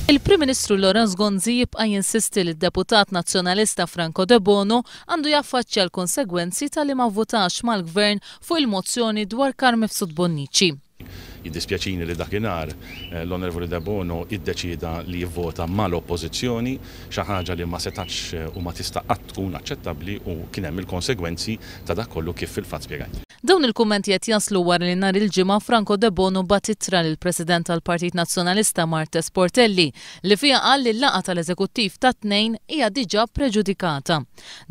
Il-Prim Ministru Lawrence Gonzi jibqa' jinsisti li d-deputat Nazzjonalista Franco Debono għandu jaffaċċja l-konsegwenzi talli ma vvutax mal-Gvern fuq il-mozzjoni dwar Carm Mifsud Bonnici. Jiddispjaċini li dakinhar l-Onorevoli Debono iddeċieda li jivvota mal-Oppożizzjoni, xi ħaġa li ma setgħetx u ma tista' qatt tkun aċċettabbli u kien hemm il-konsegwenzi ta' dak kollu kif fil-fatt spjegajt. Dawn il-kummenti qed jaslu wara li nhar il-Ġimgħa Franco Debono bagħat ittra lill-President tal-Partit Nazzjonalista Marthese Portelli li fiha qal li l-laqgħa tal-Eżekuttiv tat-Tnejn hija diġà preġudikata.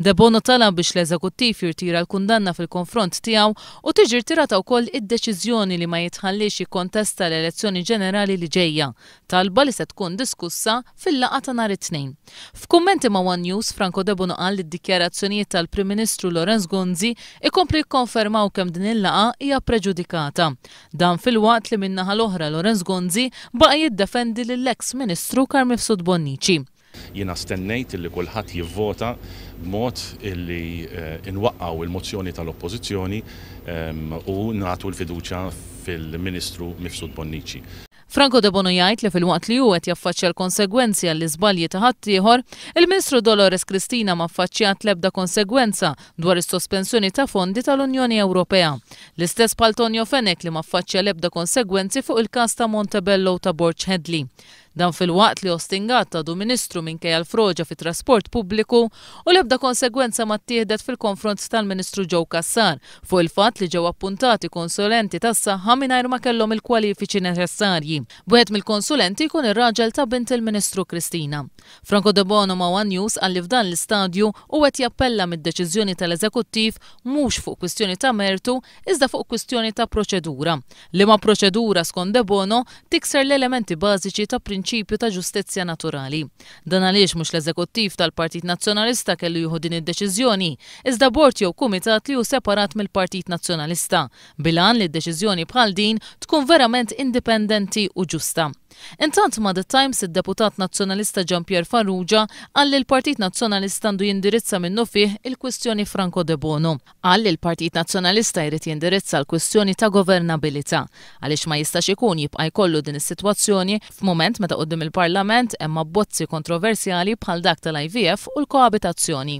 Debono talab biex l-Eżekuttiv jirtira l-kundanna fil-konfront tiegħu u tiġi rtirata wkoll id-deċiżjoni li ma jitħalliex jikkontesta l-elezzjoni ġenerali li ġejja, talba li se tkun diskussa fil-laqgħa ta' nhar it-Tnejn. F'kummenti ma' one News, Franco Debono qal li d-dikjarazzjonijiet tal-Prim Ministru Lawrence Gonzi ikomplu jikkonfermaw kemm din il-laqgħa hija preġudikata. Dan filwaqt li min-naħa l-oħra Lawrence Gonzi baqa' jiddefendi lill-eks Ministru Carm Mifsud Bonnici. Jiena stennejt illi kulħadd jivvota b'mod illi nwaqqgħu l-mozzjoni tal-Oppożizzjoni u nagħtu l-fiduċja fil-Ministru Mifsud Bonnici. Franco Debono jgħid li filwaqt li hu qed jaffaċċja l-konsegwenzi għall-iżbalji ta' ħaddieħor, il-Ministru Dolores Cristina ma ffaċċjat l-ebda konsegwenza dwar is-sospensjoni ta' fondi tal-Unjoni Ewropea. L-istess bħal Tonio Fenech li ma ffaċċja l-ebda konsegwenzi fuq il-każ ta' Montebello u ta' Borg Hedley. Dan filwaqt li Austin Gatt għadu Ministru minkejja l-froġa fit-trasport pubbliku u l-ebda konsegwenza ma ttieħdet fil-konfront tal-Ministru Joe Cassar fuq il-fatt li ġew appuntati konsulenti tas-saħħa mingħajr ma kellhom il-kwalifiċi neċessarji, b'wieħed mill-konsulenti jkun ir-raġel ta' bint il-Ministru Cristina. Franco Debono ma' one News qal li f'dan l-istadju hu qed jappella mid-deċiżjoni tal-Eżekuttiv mhux fuq kwistjoni ta' mertu iżda fuq kwistjoni ta' proċedura, liema proċedura skont Debono tikser l-elementi bażiċi ta' prinċipju ta' ġustizzja naturali. Dan għaliex mhux l-Eżekuttiv tal-Partit Nazzjonalista kellu jieħu din id-deċiżjoni, iżda bord jew kumitat li hu separat mill-Partit Nazzjonalista, bil-għan li deċiżjoni bħal din tkun verament indipendenti u ġusta. Intant ma' The Times id-deputat Nazzjonalista Jean Pierre Farrugia qal li l-Partit Nazzjonalista għandu jindirizza minnufih il-kwistjoni Franco Debono. Qal li l-Partit Nazzjonalista jrid jindirizza l-kwistjoni ta' governabilità, għaliex ma jistax ikun jibqa' jkollu din is-sitwazzjoni f'mument meta quddiem il-Parlament hemm abbozzi kontroversjali bħal dak tal-IVF u l-koabitazzjoni.